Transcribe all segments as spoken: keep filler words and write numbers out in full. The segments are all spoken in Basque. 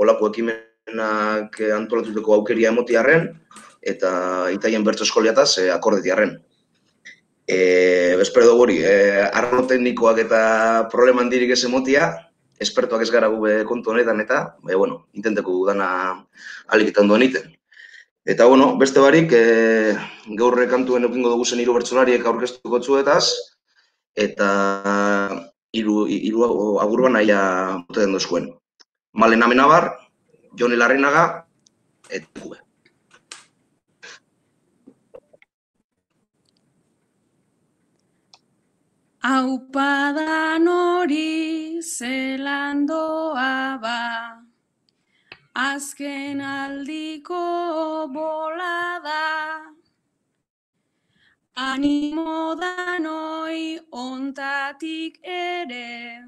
olako ekimenak antolatuteko aukeria emotiarren, eta itaien bertso eskoliataz akordetiarren. Espero dugu hori, arlo teknikoak eta problema handirik ez emotia, espertoak ez gara gube kontu honetan eta, bueno, intenteko dana aliketan duen iten. Eta, bueno, beste barik, gaurre kantuen eukingo dugu zen hiru bertsolariek aurkeztuko txuetaz, eta hiru agurban naia boten duzuen. Malen Amenabar, Joni Larrinaga, eta gube. Aupadan hori zelan doa ba, azken aldiko bolada, animo danoi ontatik ere,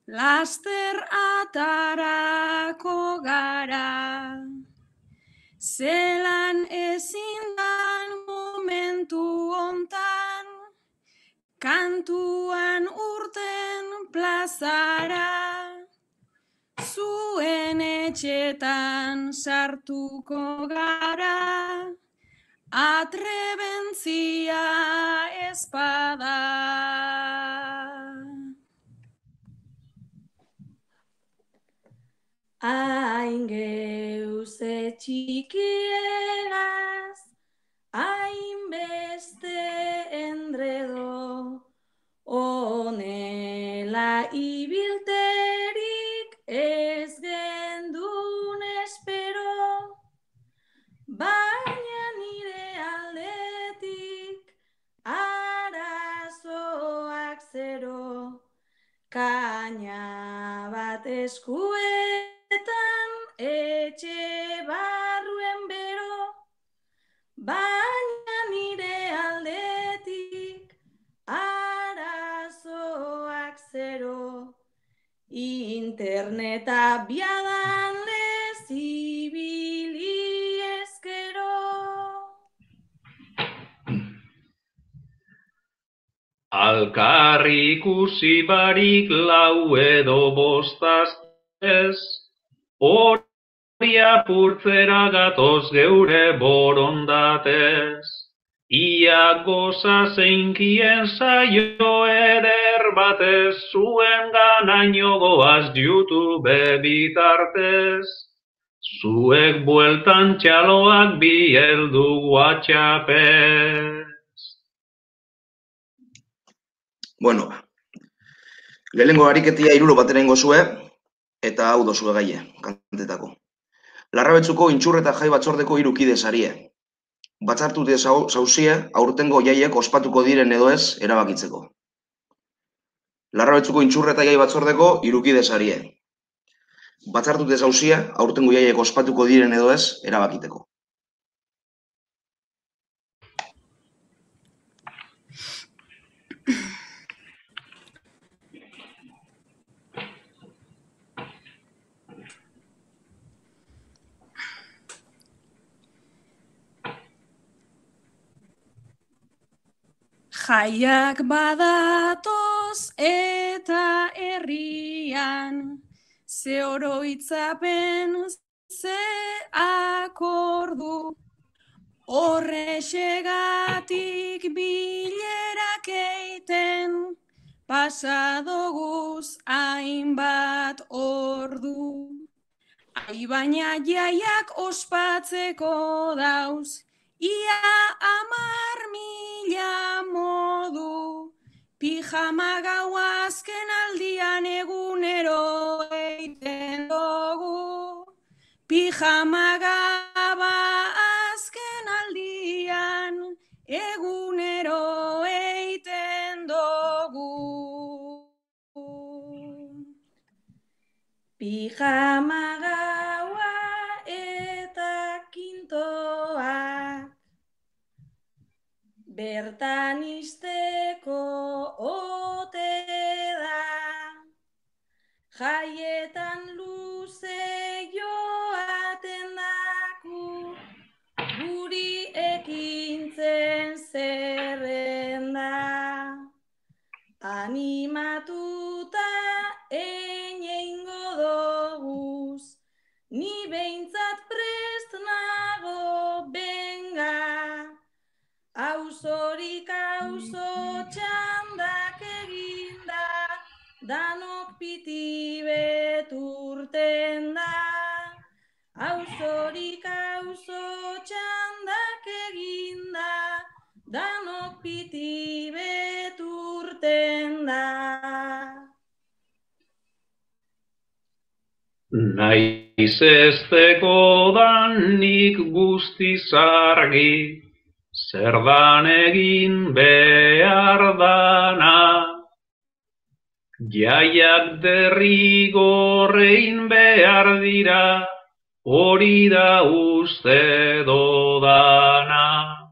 laster atarako gara, zelan ezindan momentu ontan, kantuan urten plazara, zuen etxetan sartuko gara, atrebentzia espada. Hain geuze txikiegaz, hainbeste endredo, honela ibilterik ez gendun espero, baina nire aldetik arazoak zero, kaina bat eskuetan etxe barruen bero, baina nire aldetik arazoak zero, interneta biadan lez ibili ezkero. Alkarri ikusi barik lau edo bostaz ez, hori apurtzera gatoz geure borondatez. Ia goza zeinkien zaio eder batez, zuen ganaino goaz YouTube bitartez. Zuek bueltan txaloak bieldu WhatsAppez. Bueno, lehenengo ariketia hirulo bateren gozue, eta hau dozue gaie, kantetako. Larrabetzuko intxurreta jai batzordeko hiru kide sarie. Batzartute zauzie, aurtengo jaiek ospatuko diren edo ez erabakitzeko. Larrabetzuko intxurreta jai batzordeko hiru kide sarie. Batzartute zauzie, aurtengo jaiek ospatuko diren edo ez erabakiteko. Jaiak badatoz eta herrian, ze oroitzapen, ze akordu, horrexegatik bilerak eiten, pasadoguz hainbat ordu. Ai baina jaiak ospatzeko dauz, ia amar mila modu, pijama gau azken aldian egunero eiten dugu. Pijama gaba azken aldian egunero eiten dugu. Pijama gaua eta kintoak, bertan izteko ote da, jaietan luze joaten daku, guri ekintzen zerrenda, animatuta eineingo doguz, auzo txandak eginda, danok piti beturten da. Auzorik auzo txandak eginda, danok piti beturten da. Naiz ezteko danik guztiz argi, zer dan egin behar dana. Jaiak derrigorrein behar dira, hori da uste dodana.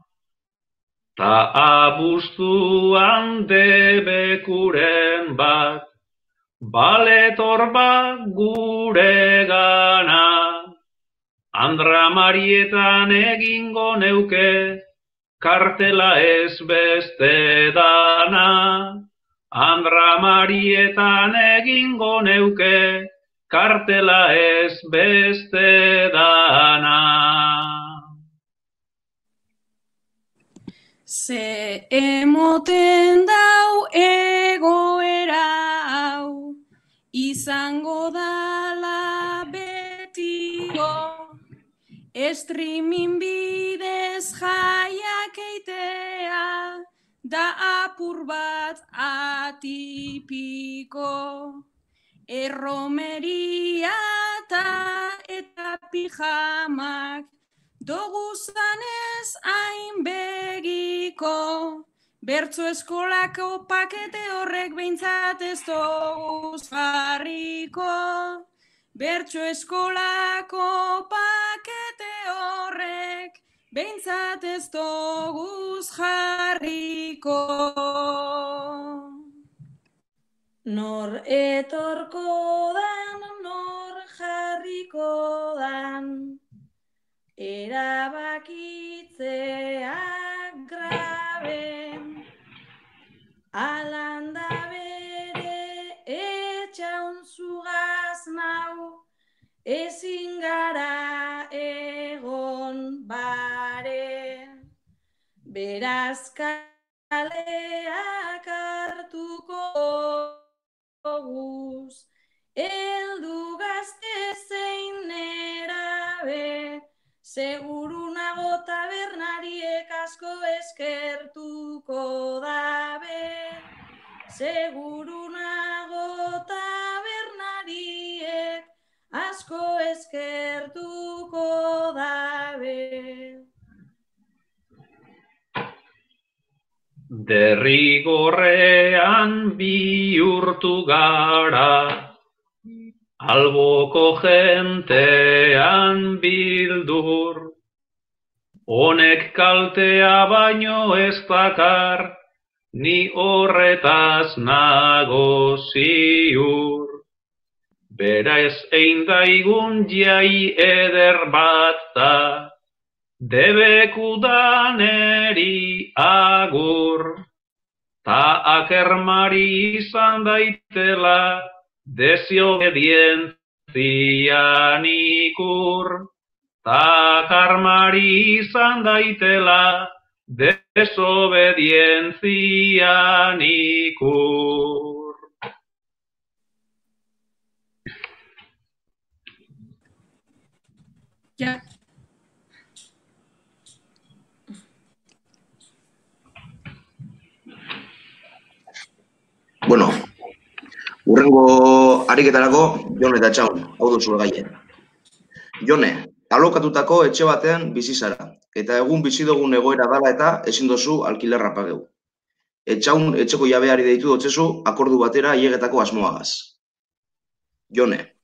Ta abuztuan debekuren bat, baletor bat gure gana. Andra Marietan egingo neuke, kartela ez beste dana. Andra Marietan egingo neuke, kartela ez beste dana. Ze emoten dau egoera hau, izango dala betiko, streaming bidez jaiak eitea, da apur bat atipiko. Erromeria eta pijamak, doguzanez hainbegiko, bertso eskolako pakete horrek behintzat ez doguz jarriko. Bertso eskolako pakete horrek behintzat ez doguz jarriko. Nor etorko dan, nor jarriko dan, erabakitzeak graben. Alanda bere etxaun zugaz nau, ezin gara egon bare. Beraz kaleak hartuko guz, eldu gazte zein nerabe, seguru nago tabernariek asko eskertuko dabe. Seguru nago tabernariek asko eskertuko dabe. Derrigorrean bihurtu gara, alboko jentean bildur, honek kaltea baino ez dakar, ni horretaz nago ziur. Bera ez ein daigun jai eder bat da, debekudaneri agur, ta akermari izan daitela, desobedientzian ikur. Ta akermari izan daitela, desobedientzian ikur. Ja. Bueno, hurrengo ariketarako Jone eta Txaun, hau duzu gaien. Jone, alokatutako etxe batean bizi zara, eta egun bizi dugun egoera dala eta ezin dozu alkilerra pageu. Etxaun etxeko jabeari deitu dotzezu akordu batera hiegetako asmoagaz. Jone,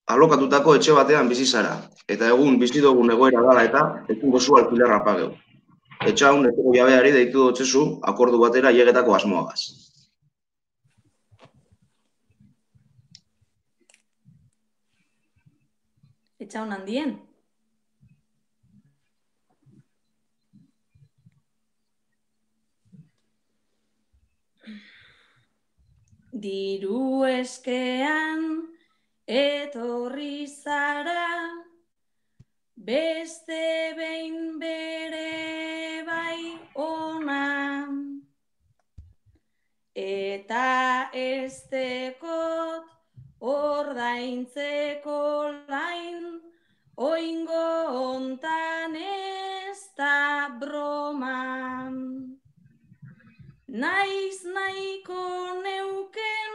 alokatutako etxe batean bizi zara, eta egun bizi dugun egoera dala eta ezin dozu alkilerra pageu. Etxaun etxeko jabeari deitu dotzezu akordu batera hiegetako asmoagaz. Etxaun handien. Diru eskean etorri zara, beste behin bere bai ona. eta estekot ordaintzeko lain, oingo hontan ez da broman. Naiz nahiko neuken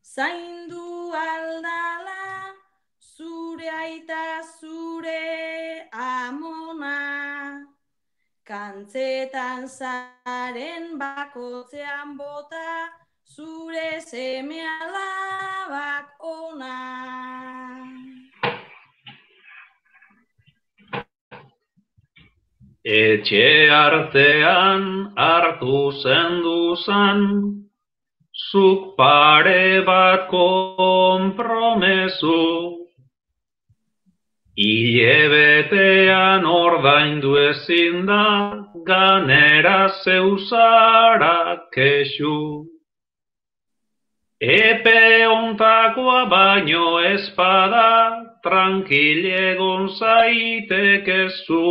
zaindu aldala, zure aita zure amona. Kantzetan zaren bakotzean bota, zure seme alabak ona. Etxe artean hartu zenduzan, zuk pare bat konpromezu. Hilebetean ordaindu ezin da, ganera zeuzara kexu. Epe ontakoa baino espada, tranquile egon zaitekezu.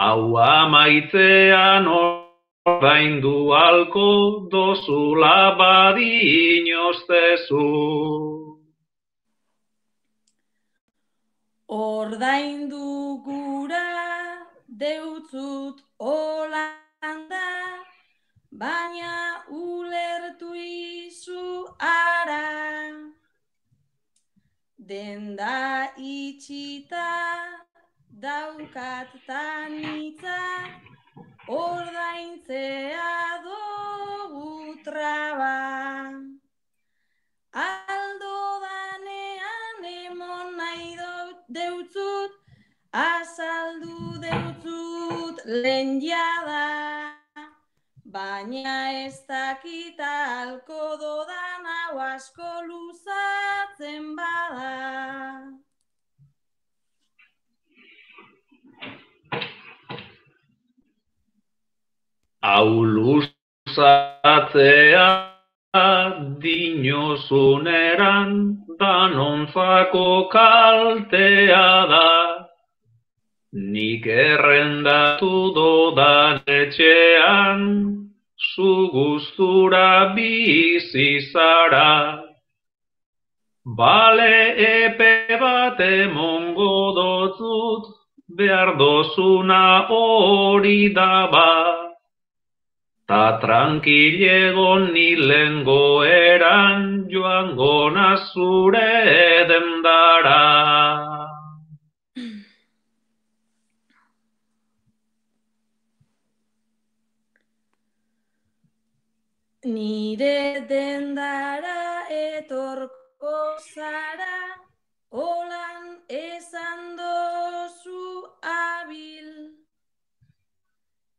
Hau amaitzean ordaindu alko dozula badinoztezu. Ordaindu gura deutzut Holanda, baina ulertu izu ara. Denda itxita daukat tanitza, ordaintzea dugu traba. Aldo danean emon nahi deutzut, azaldu deutzut lehen jada. Baina ez dakit alko dodan hau asko luzatzen bada. Hau luzatzea dinozuneran danontzako kaltea da. Nik errendatu dodan etxean, zu gustura bizi zara. Bale epe bat emongo dotzut, behar dozuna hori daba. Ta tranquilegon ni lengo eran, joango nazure dendara. Nire dendara etorko zara, holan esan dozu abil.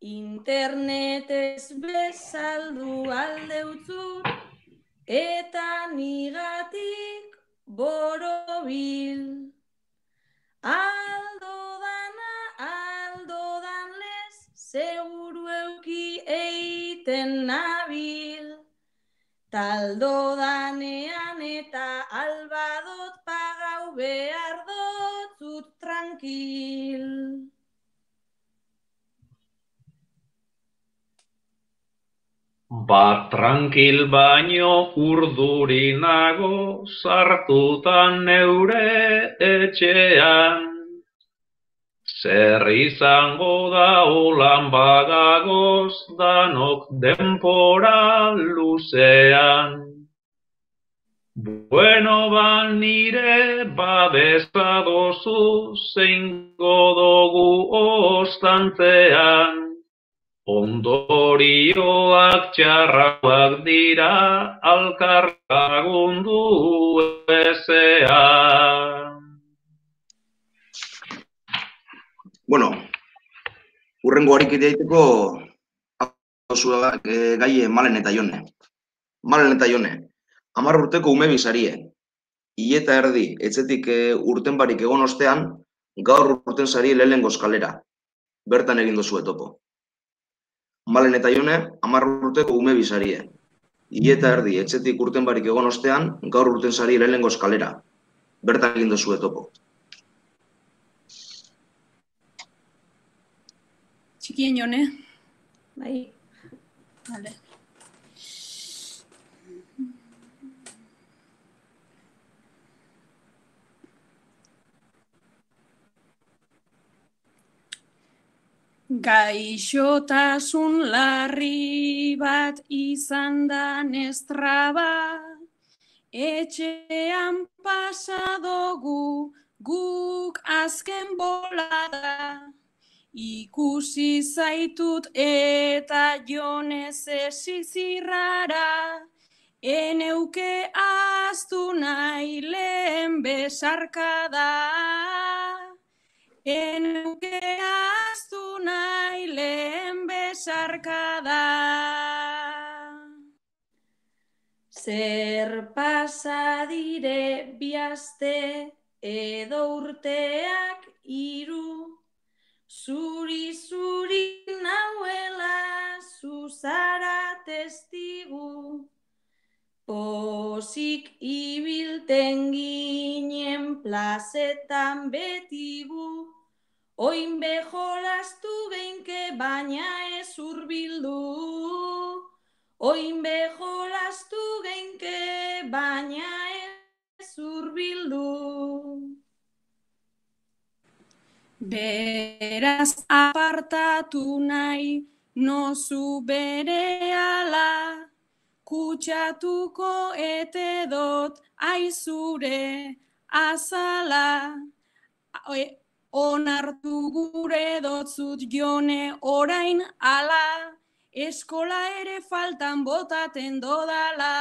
Internetez bezaldu aldeutzut, eta nigatik borobil. Aldo dana, aldo danlez, seguru euki eiten nabil. Taldo danean eta albadot pagau behar dotzut tranquil. Bat tranquil baino urduri nago, sartutan neure etxean. Zer izango da holan bagagoz, danok denpora luzean. Bueno ba nire babesa dozu, zeingo dugu ostantzean. Ondorioak txarrak dira, alkarlagundu ezean. Bueno, urrengo harikit daiteko e, gai Malen eta Jone. Malen eta Jone, hamar urteko ume bizarie. Hile eta erdi, etxetik e, urten barik egon ostean, gaur urten zarie lehenengo eskalera. Bertan egin dozu etopo. Malen eta Jone, hamar urteko ume bizarie. Hile eta erdi, etxetik urten barik egon ostean, gaur urten zarie lehenengo eskalera. Bertan egin dozu etopo. Txikien Jone. Bai. Vale. Gaixotasun larri bat izan da nestraba, etxean pasadogu guk azken bolada. Ikusi zaitut eta jonez esizirrara, eneuke aztu nahi lehen besarkada. Eneuke aztu nahi lehen besarkada. Zer pasa dire bi aste edo urteak hiru, zuri-zuri nauela zuzara testigu. Pozik ibilten ginen plazetan betigu, oin bejolastu geinke baina ez hurbildu. Oin bejolastu geinke baina ez hurbildu. Beraz apartatu nahi nozu berehala, kutsatuko ete dot aizure azala. Onartu gure dotzut jone orain ala, eskola ere faltan botaten dodala.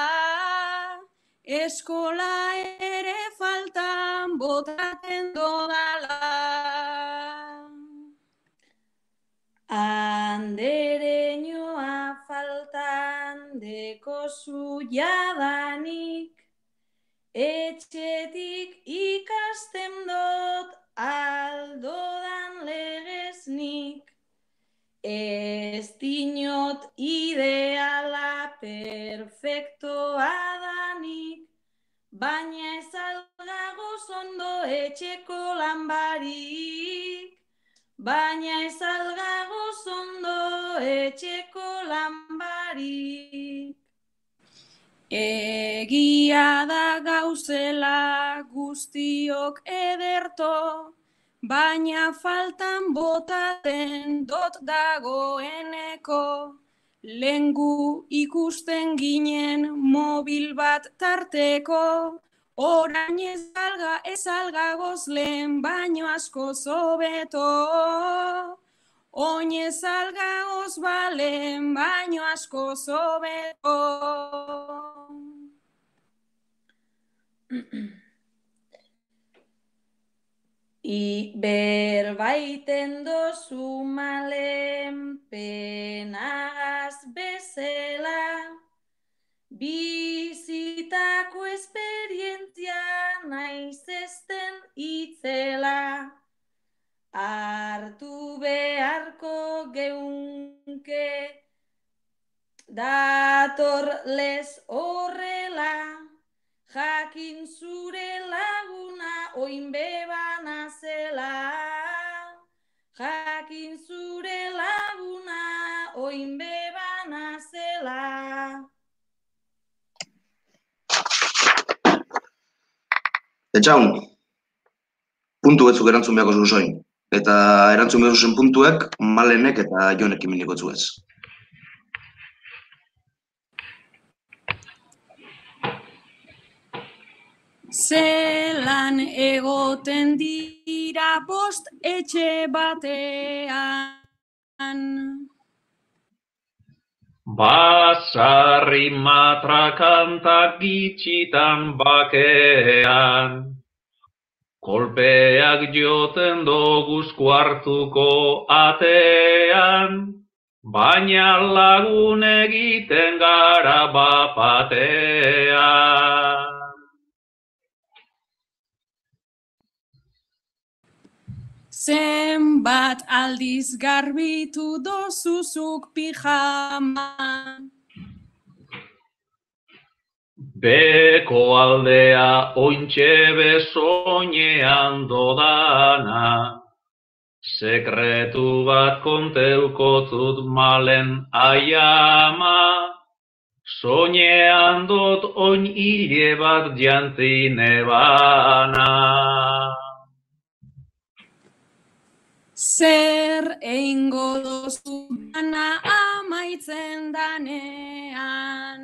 Eskola ere faltan botaten dodala. Andereñoa faltan dekozu jadanik, etxetik ikasten dot aldodan legeznik. Ez dinot ideala perfektoa danik, baina ez algagoz ondo etxeko lanbarik. Baina ez algagoz ondo etxeko lanbarik. Egia da gauzela guztiok ederto, baina faltan botaten dot dagoeneko. Lengu ikusten ginen mobil bat tarteko, orain ez alga ez algagoz lehen baino asko zobeto. Oin ez algagoz balen baino asko zobeto. I berbaiten dozu malen penagaz bezela, bizitako esperientzia naiz ezten itzela. Hartu beharko geunke dator lez horrela, jakin zure laguna oin bebana zela. Jakin zure laguna oin bebana zela. Etxaun, puntu betzuk erantzun beharko zuzoin. Eta erantzun behar zuzen puntuek Malenek eta Jonek iminiko zuez. Zelan egoten dira bost etxe batean. Basarri matrakantak gitxitan bakean. Kolpeak joten doguz kuartuko atean, baina lagun egiten gara bapatean. Zenbat aldiz garbitu dozuzuk pijama. Beko aldea ointxe besoinean dodana, sekretu bat konteukotzut Malen aiama, soinean dot oin hile bat jantine bana. zer eingo dozu dana amaitzen danean.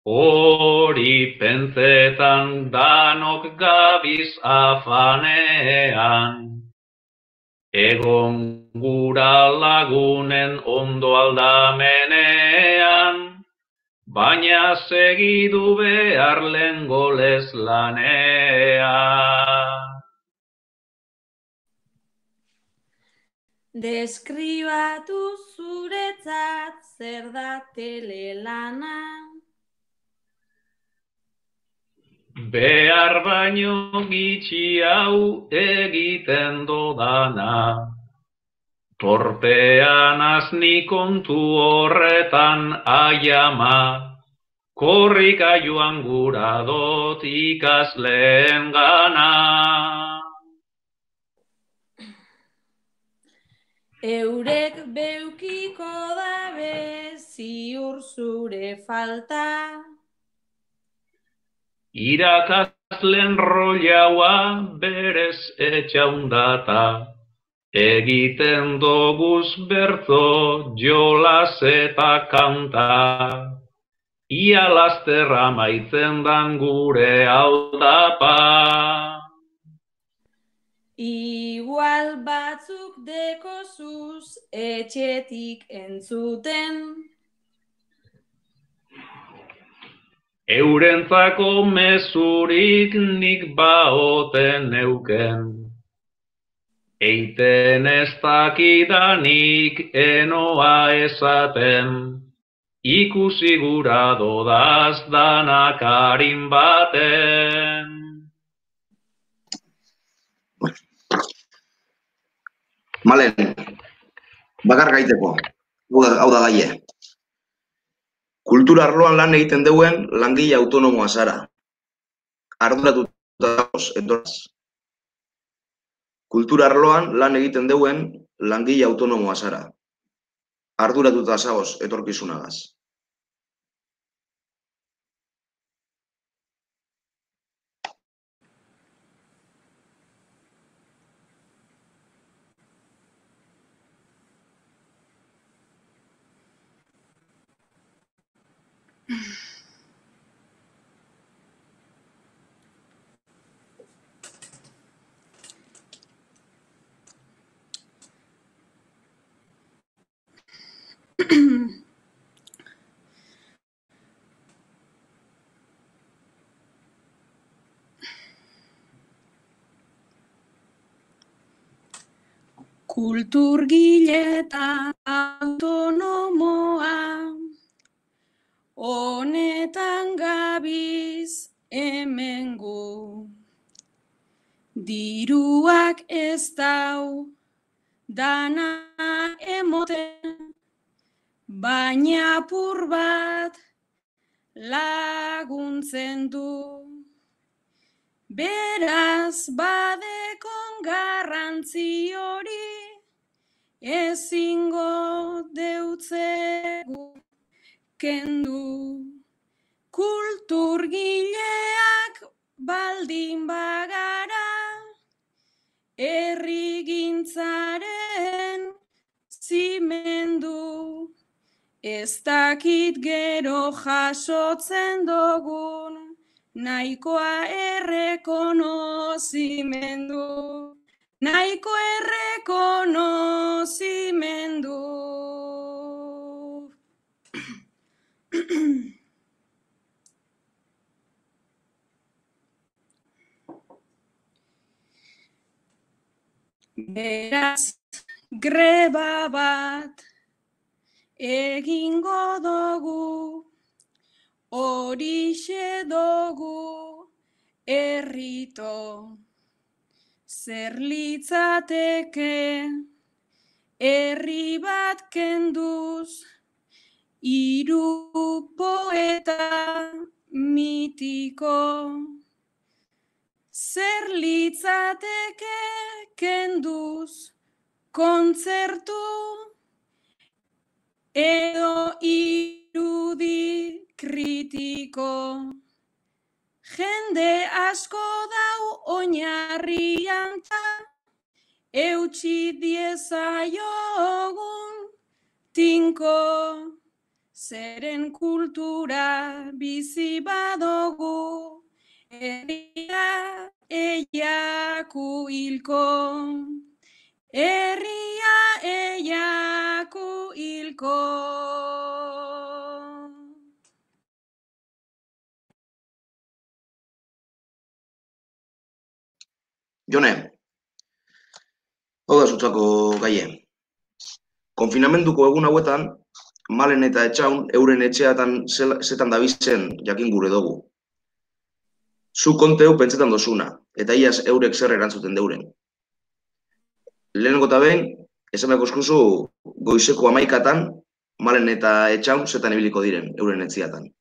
Hori pentsetan danok gabiz afanean, egon gura lagunen ondo aldamenean, baina segidu behar lehengo leslanean. Deskribatu zuretzat zer da telelana. Behar baino gitxi hau egiten dodana, torpean azni kontu horretan aiama, korrika joan gura dot ikasleen gana. Eurek beukiko dabe ziur zure falta. Irakasleen rollaua berez etxaundata, egiten doguz bertzo jolas eta kanta, ia lasterra maitzen dan gure aldapa. Igual batzuk dekozuz etxetik entzuten. Eurentzako mezurik nik baoten neuken, eiten ez dakidanik enoa esaten, ikusi gura dodaz danak arin baten. Malen, bakar gaiteko, hau da gaie. Kultura arloan lan egiten deuen langile autonomoa zara. Arduratuta etorraz. Kultura arloan lan egiten deuen langile autonomoa zara. Arduratuta zagoz etorkizunagaz. Kulturgile eta autonomoa, honetan gabiz hemengo. Diruak ez dau dana emoten, baina apur bat laguntzen du. Beraz badekon garrantzi hori, ezingo deutzegu kendu. Kulturgileak baldin bagara, herrigintzaren zimendu. Ez dakit gero jasotzen dogun, nahikoa errekonozimendu, nahiko errekonozimendu. Beraz, greba bat egingo dugu, horixe dugu errito. Zer litzateke herri bat kenduz, hiru poeta mitiko. Zer litzateke kenduz kontzertu edo irudi kritiko. Jende asko dau oinarrian ta eutsi diezaiogun tinko, zeren kultura bizi badogu, herria eiaku hilko, herria eiaku hilko. Jone, hau da zutzako gaie. Konfinamenduko egun hauetan, Malen eta Etxaun euren etxeatan zetan dabizen jakin gure dugu. Zu konteu pentsetan dozuna, eta iaz eurek zer erantzuten deuren. Lehenengo eta behin, esan behar eskuzu goizeko hamaikatan, Malen eta Etxaun zetan ibiliko diren euren etziatan.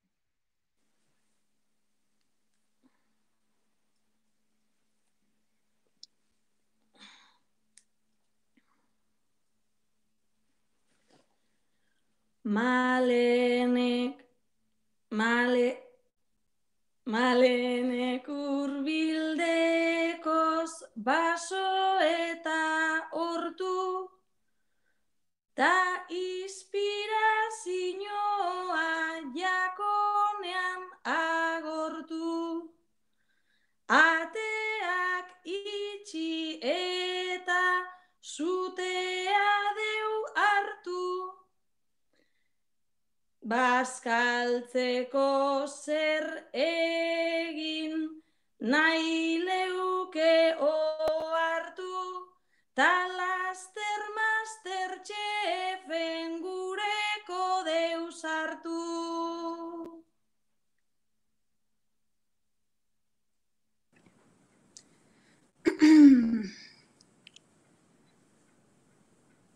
Malenek, male, malenek urbildekoz baso eta hortu, ta inspirazioa jakonean agortu, ateak itxi eta zutea deu hartu, bazkaltzeko zer egin nahi leuke ohartu, ta laster master txefen gureko deus hartu.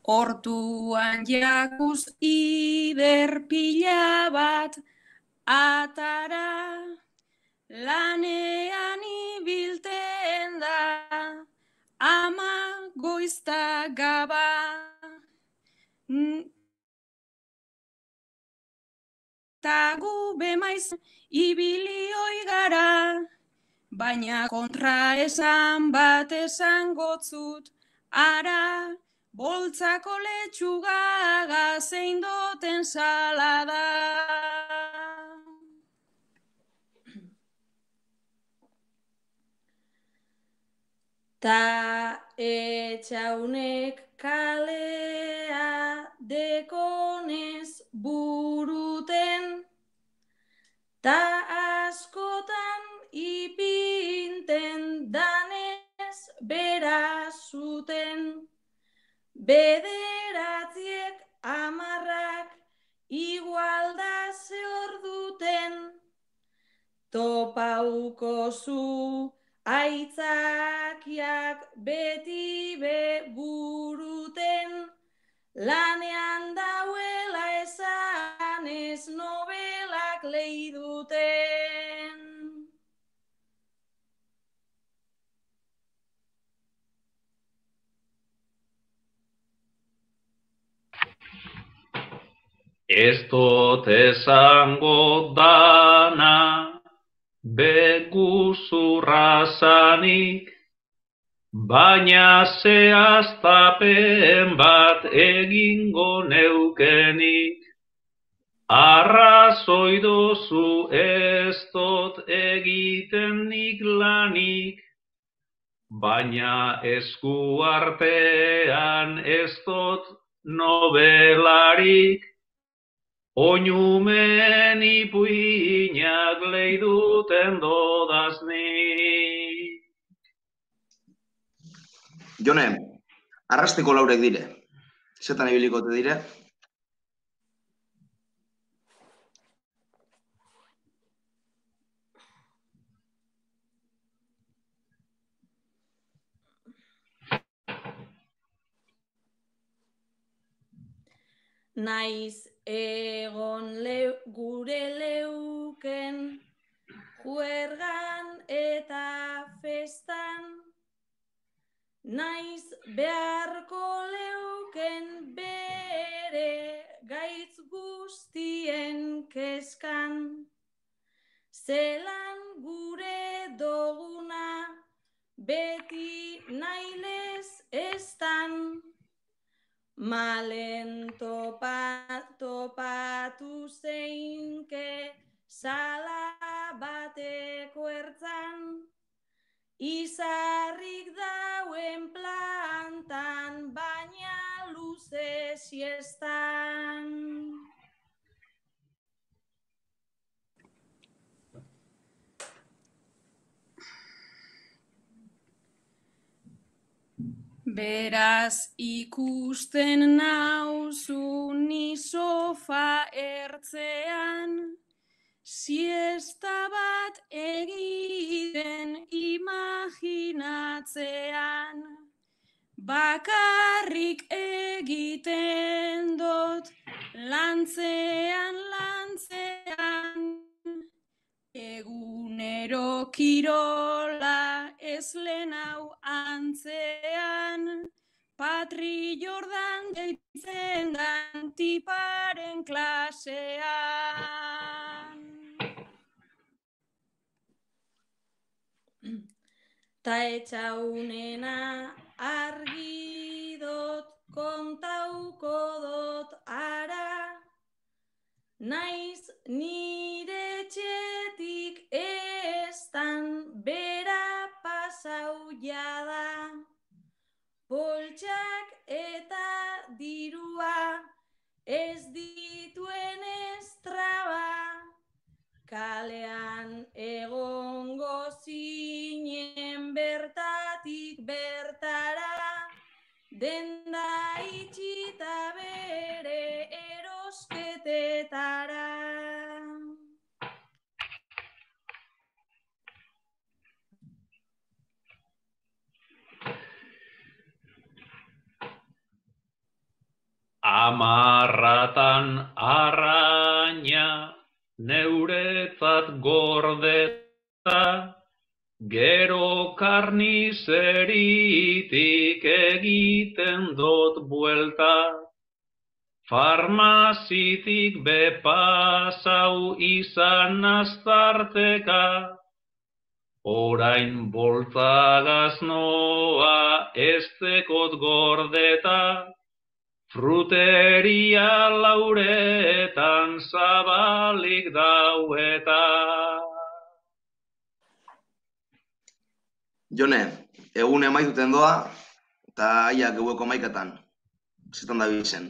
Hortuan jakuz ider pila bat atara, lanean ibilten da, ama goizta gaba. Ta gu bemaiz ibilioi gara, baina kontra esan bat esan gotzut, ara, boltzako letxugaga zein doten salada. Ta Etxaunek kalea dekonez buruten, ta askotan ipinten danez bera zuten, bederatziek amarrak igualda zehor duten, topauko zu aitzakiak beti be buruten, lanean dauela esanez nobelak leiduten. Ez dut esango dana, beguzurra zanik, baina zehaztapen bat egingo neukenik. Arrazoi dozu ez dut egiten nik lanik, baina esku artean ez dut nobelarik. Oinumen ipuinak leiduten dodaz ni. Jone, arrastiko laurek dire. Zetan ibilikote dire? Naiz egon leu, gure leuken, juergan eta festan, naiz beharko leuken bere gaitz guztien keskan, zelan gure doguna beti nailez estan, malen topa, topatu zeinke sala bateko ertzan, izarrik dauen plantan, baina luze siestan. Beraz ikusten nauzu ni sofa ertzean, siesta bat egiten imaginatzean, bakarrik egiten dut lantzean, lantzean, egunero kirola ez lehenau antzean, Patri Jordan deitzen dan tiparen klasean. Ta etxaunena argi dot, kontauko dot ara, naiz nire etxetik estan bera pasau jada, poltsak eta dirua ez dituen estraba, kalean egongo zinen bertatik bertara, denda itxita bere erosketetara. Amarratan arraina neuretzat gordeta, gero karnizeritik egiten dut buelta, farmazitik bepasau izan aztarteka, orain boltzagaz noa ez dekot gordeta, fruteria lauretan zabalik daueta. Jone, egun emaituten doa, eta aiak gaueko maikatan. Zetan da bizen.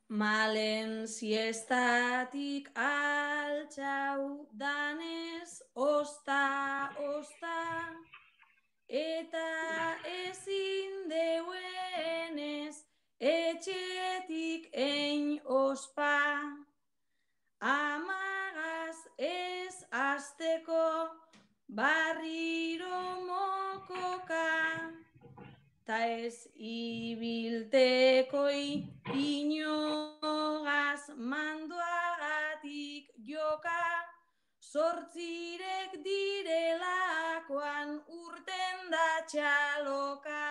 Malen siestatik altxau danez, osta, osta, eta ezin deuenez, etxetik ein ospa, amagaz ez azteko barriro mokoka, ta ez ibilteko inogaz mandoagatik joka, zortzirek direlakoan urten da txaloka.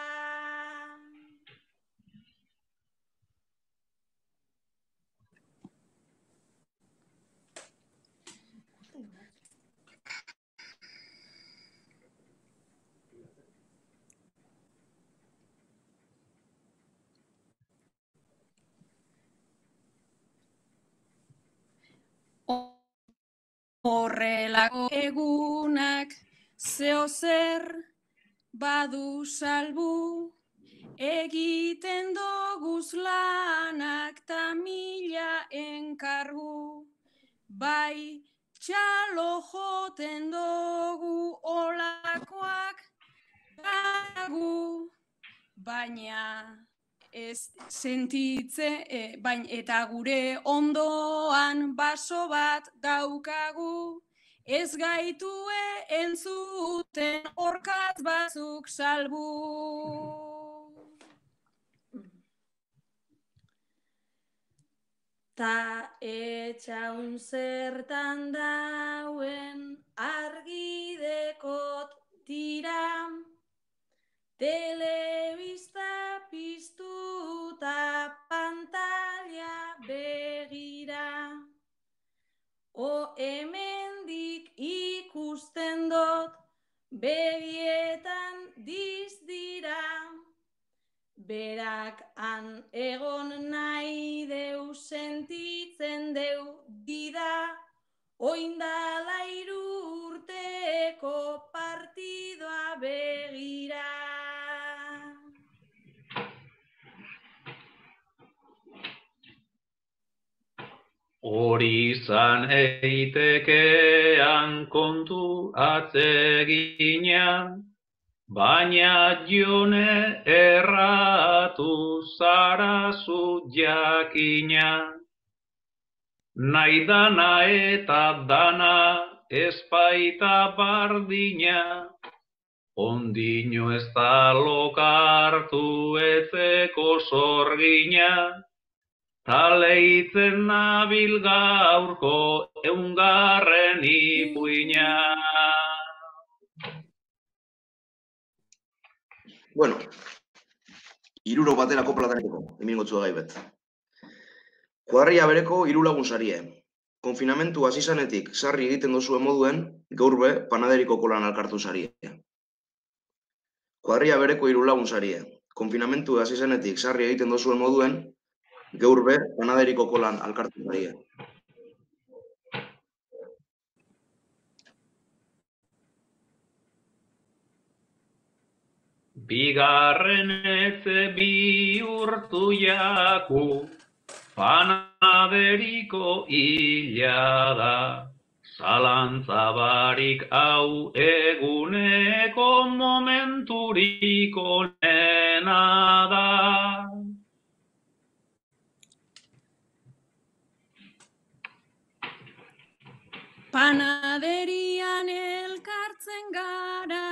Horrelako egunak zeo zer badu salbu, egiten doguz lanak ta mila enkargu, bai txalo joten dogu olakoak dagu, baina ez sentitze, e, bain, eta gure ondoan baso bat daukagu, ez gaitue entzuten orkatz batzuk salbu. Ta etxaun zertan dauen argidekot tira, telebista piztuta pantalla begira, dizdira, berak han egon nahi deu sentitzen deu dida, oindala hiru urteko partidoa begira. Hori izan eitekean kontu atsegina, baina Jone erratu zara zu jakina. Nahi dana eta dana ezpaita bardina, ondino ez da lokartu etzeko sorgina, taleitzen nabil gaurko eungarren ipuina. Bueno, hiruro baterako plataneko, hemen gotzua gaibet. Kuadrilla bereko hiru lagun sarie. Konfinamentu hasi zanetik sarri egiten dozuen moduen, gaur be panaderiko kolan alkartu sarie. Kuadrilla bereko hiru lagun sarie. Konfinamentu hasi zanetik sarri egiten dozuen moduen, gaur be panaderiko kolan alkartu sarie. Bigarren etze bihurtu jaku, panaderiko hila da, zalantza barik hau eguneko momenturiko nena da. Panaderian elkartzen gara,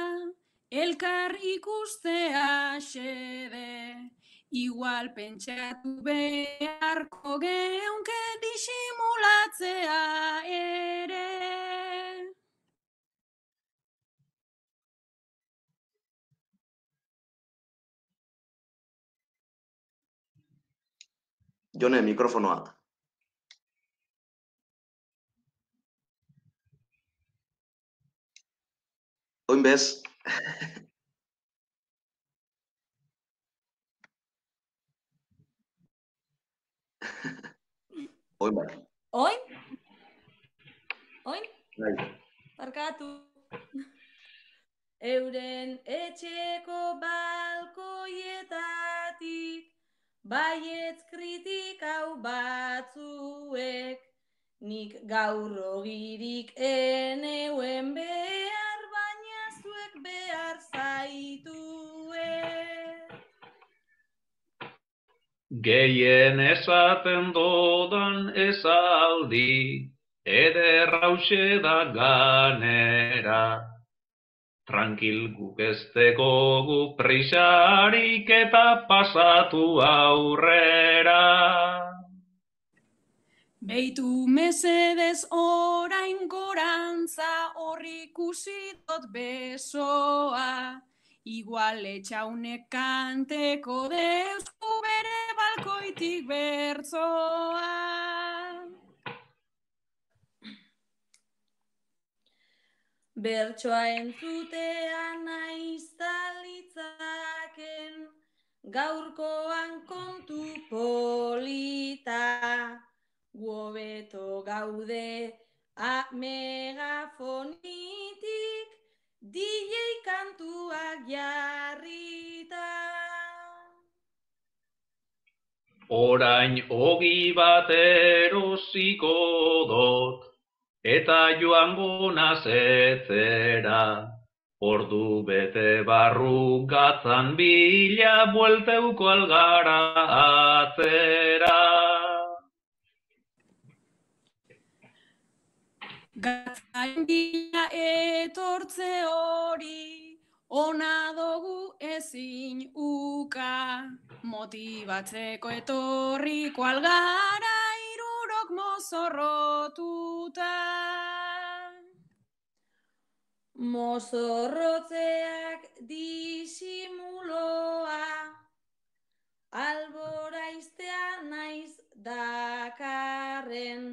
elkar ikustea xede, igual pentsatu beharko geunke disimulatzea ere. Jone, mikrofonoa. Oin bez. Oin bai. Oin? Oin? Bai. Barkatu. Euren etxeko balkoietatik, baietz kritikau batzuek, nik gaur ogirik eneuen behar, baina zuek behar zaituek. Gehien esaten dodan esaldi, eder hause da ganera. Tranquil guk ezteko gu prisarik eta pasatu aurrera. Beitu mesedez orain gorantza, horri ikusi dot besoa, igual etxaunek kanteko deuzku bere balkoitik bertzoa. Bertsoa entzutea naiz talitzaken, gaurkoan kontu polita, guobeto gaude a megafonitik, D J kantuak jarrita. Orain ogi bat erosiko dot, eta joango nazetzera, ordu bete barru gatzan bila buelteuko algara atzera. Gatzain bila etortze hori, ona dugu ezin uka, motibatzeko etorriko algara hirurok mozorrotuta. Mozorrotzeak disimuloa, alboraiztea naiz dakarren,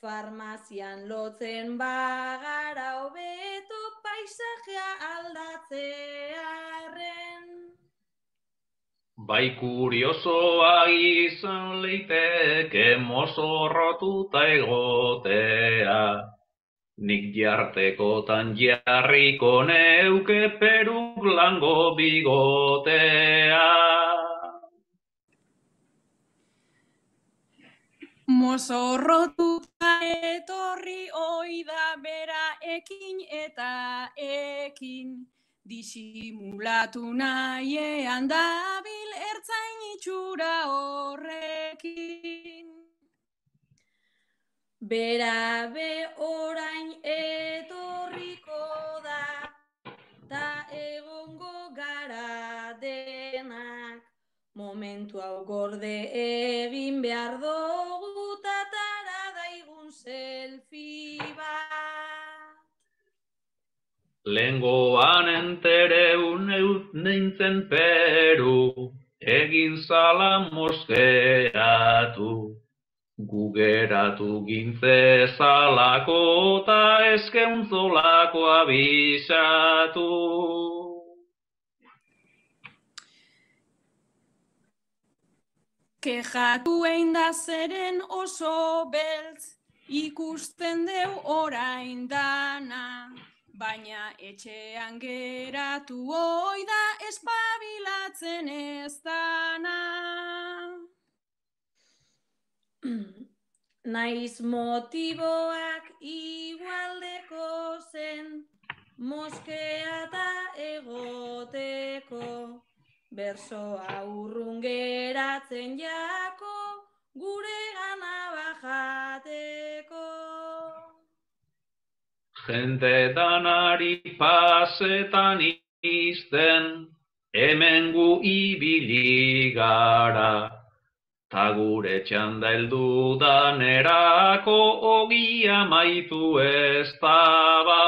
farmazian lotzen bagara hobeto paisajea aldatzea. Bai kuriosoa izan leiteke mozorrotuta egotea, nik jartekotan jarriko neuke peruk lango bigotea. Mozorrotuta etorri oida bera ekin eta ekin, disimulatu nahiean dabil ertzain itxura horrekin. Bera be orain etorriko da, ta egongo gara denak, momentu hau gorde egin behar dugu, tatara daigun selfie bat. Lengoan entereun nintzen peru, egin zala moskeatu. Gugeratu gintze zalako ta eskeuntzolako abisatu. Kejatu egin da zeren oso beltz, ikusten deu orain dana, baina etxean geratu oida espabilatzen ez dana. Naiz motiboak igualdeko zen, moskea eta egoteko, bersoa urrun geratzen jako, gure gana bajateko. Jente danari pasetan izten, hemen gu ibili gara. Ta gure txanda heldu danerako ogia maitu ez daba.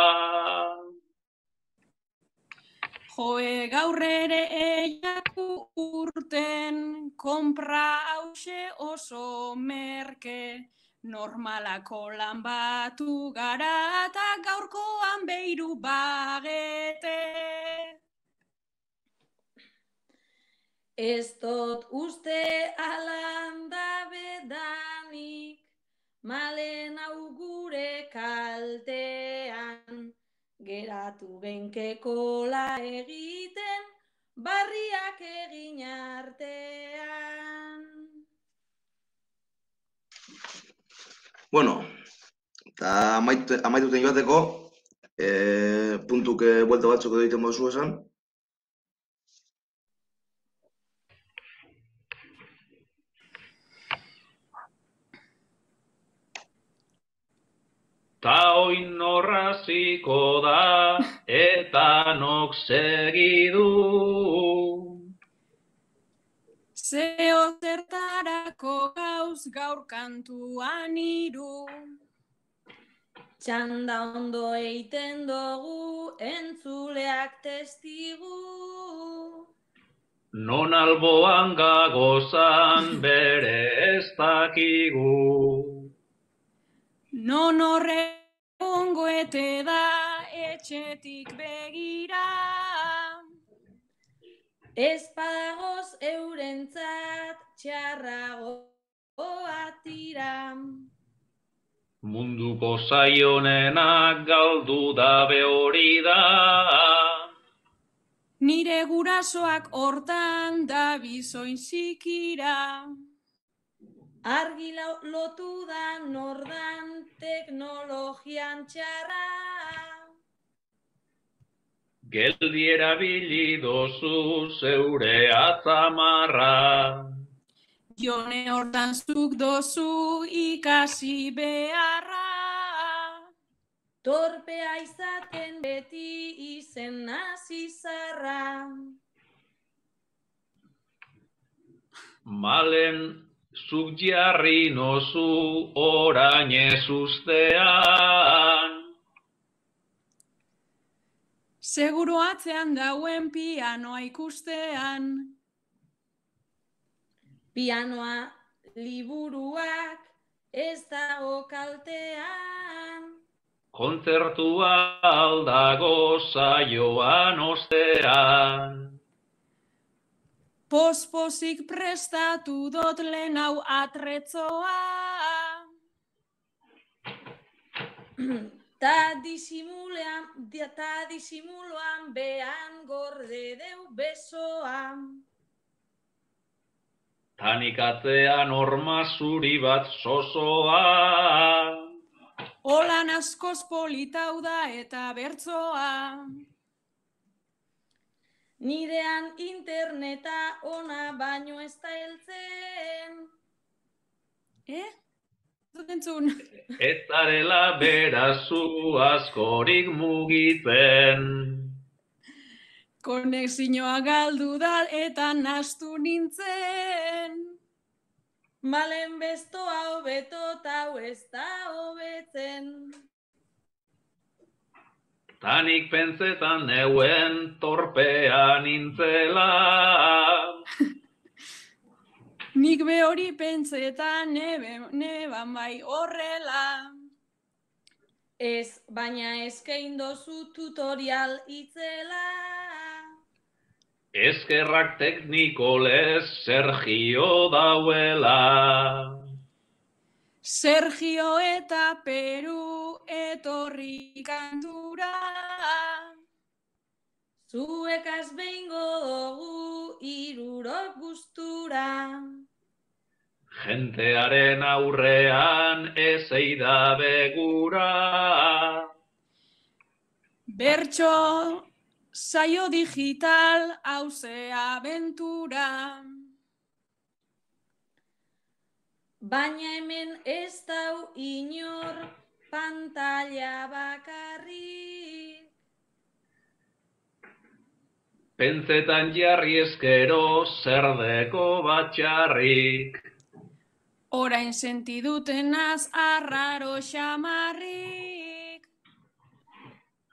Joe gaur ere eiatu urten, konpra hause oso merke, normalako lan batu gara eta gaurkoan beiru bagete. Ez dut uste alan dabe danik, malen hau gure kaltean, geratu genkekola egiten, barriak egin artean. Bueno, eta amaituten joateko, e, puntuk e, buelta batzuk edo egiten mozu esan. Ta oin norraziko da, eta nok segidu. Zeo zertarako gauz gaur kantuan iru. Txanda ondo eiten dugu, entzuleak testigu. Non alboan gagozan bere ez dakigu. Non horregongo ete da etxetik begira. Ez padagoz eurentzat txarragoa tira. Munduko zaionenak galdu dabe hori da. Nire gurasoak hortan da bizoin zikira. Argi lotu da nordan teknologian txarra. Geldi erabili dozu zeure atzamarra. Jone hortan zuk dozu ikasi beharra. Torpea izaten beti izen nazizarra. Malen zuk jarri nozu orain ez ustean. Seguro atzean dauen pianoa ikustean. Pianoa liburuak ez dago kaltean. Kontzertua aldago saioan ostean. Pospozik prestatu dot lehen hau atretzoa. Ta disimulean, ta disimuloan behan gorde deu besoa. Tanik atzean horma zuri bat zozoa. Olan askoz politau da eta bertzoa. Nirean interneta ona baino ez da heltzen. Eh? Zut entzun. Ez zarela berazu askorik mugitzen. Konexioa galdu da eta nastu nintzen. Malen bestoa hobeto ta hau ez da hobetzen. Tanik pentsetan neuen torpea nintzela. Nik be hori pentsetan nebe, neban bai horrela. Ez, baina eskain dozu tutorial itzela. Eskerrak teknikolez Sergio dauela. Sergio eta Peru etorri kantura. Zuekaz behingo dugu irurok gustura. Jentearen aurrean ez eida begura. Bertso saio digital hauze abentura. Baina hemen ez dau inor pantalla bakarrik. Pentsetan jarri eskero zerdeko batxarrik. Orain sentidutenaz arraro xamarrik.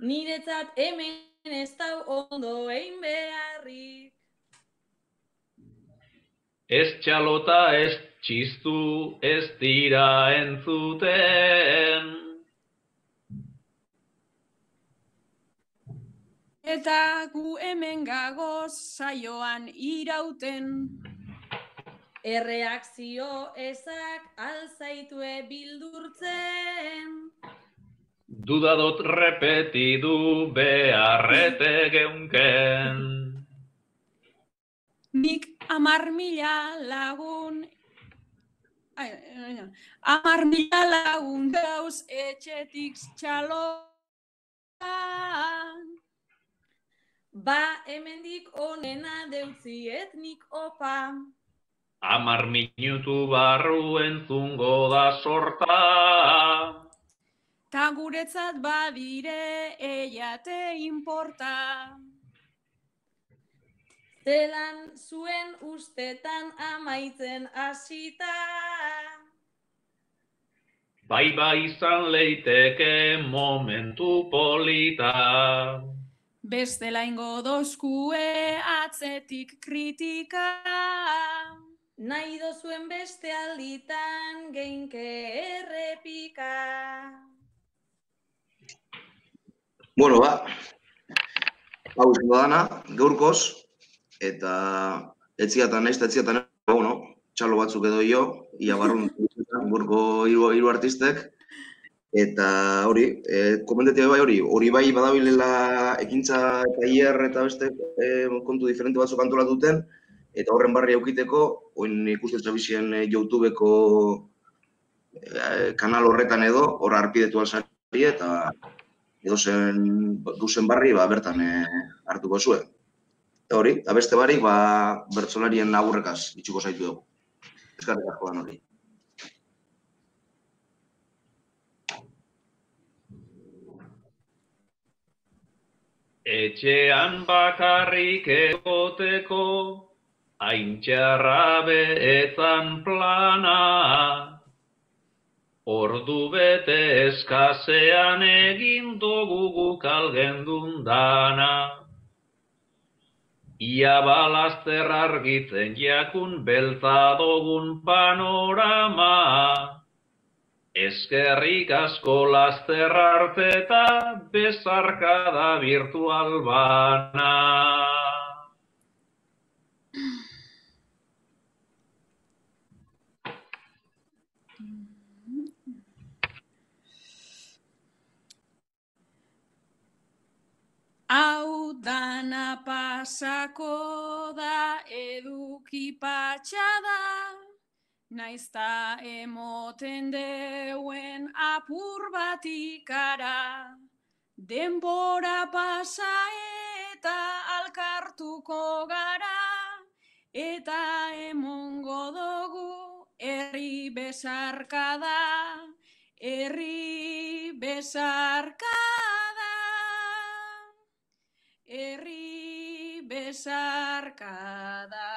Niretzat hemen ez dau ondo egin beharrik. Ez txalota ez txistu ez dira entzuten. Eta gu hemen gagoz saioan irauten. Erreakzio ezak alzaitue bildurtzen. Dudadot repetidu beharrete geunken. Nik amar mila lagun, ai, amar mila lagun dauz etxetik txaloan. Ba, hemendik onena deutzi etnik opa. Amar minutu barru entzungo da sorta. Ta guretzat badire eiate inporta. Zelan zuen ustetan amaitzen hasita. Bai bai izan leiteke momentu polita. Bestela ingo dozkue atzetik kritika. Nahi dozuen beste alditan geinke errepika. Bueno, ba, hau izango dana, gaurkoz, eta etziatan ez, etziatan ez, bueno, txalo batzuk edo jo, ia barrun gaurko hiru hiru artistek, eta hori, e, komentetia bai hori, hori bai badabilela ekintza eta hier eta beste e, kontu diferente batzuk antolatuten, eta horren barri aukiteko, oin ikusten zabizien e, YouTubeko e, kanal horretan edo, horra arpidetu alzari eta edo zen duzen barri ba, bertan e, hartuko zuen. Eta hori, eta beste barik, ba, bertsolarien agurrekaz itxuko zaitu dugu. Eskarrik asko dan hori. Etxean bakarrik egoteko, haintxarra beetzan plana. Ordu bete eskasean egin dugu guk algendun dana. Ia balazter argitzen jakun beltza dugun panorama. Eskerrik asko laster arte eta bezarkada virtual bana. pasako da eduki patxada, naizta emoten deuen apur bat ikara, denbora pasa eta alkartuko gara, eta emongo dugu herri besarkada, herri besarkada, herri besarkada.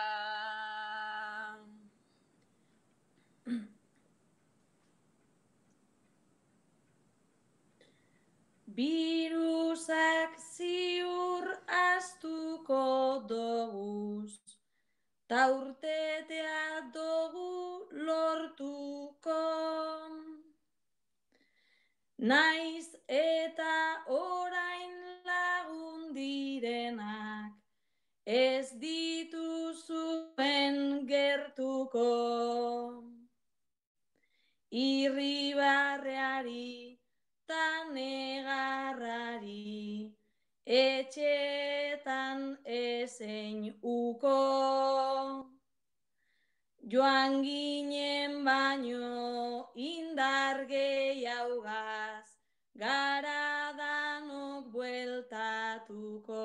Birusak ziur astuko doguz, ta urtetea dugu lortuko. Naiz eta orain lagun direnak, ez dituzuen gertuko. Irribarreari ta negarrari, etxetan ezein uko. Joan ginen baino indar gehiagaz, gara danok bueltatuko.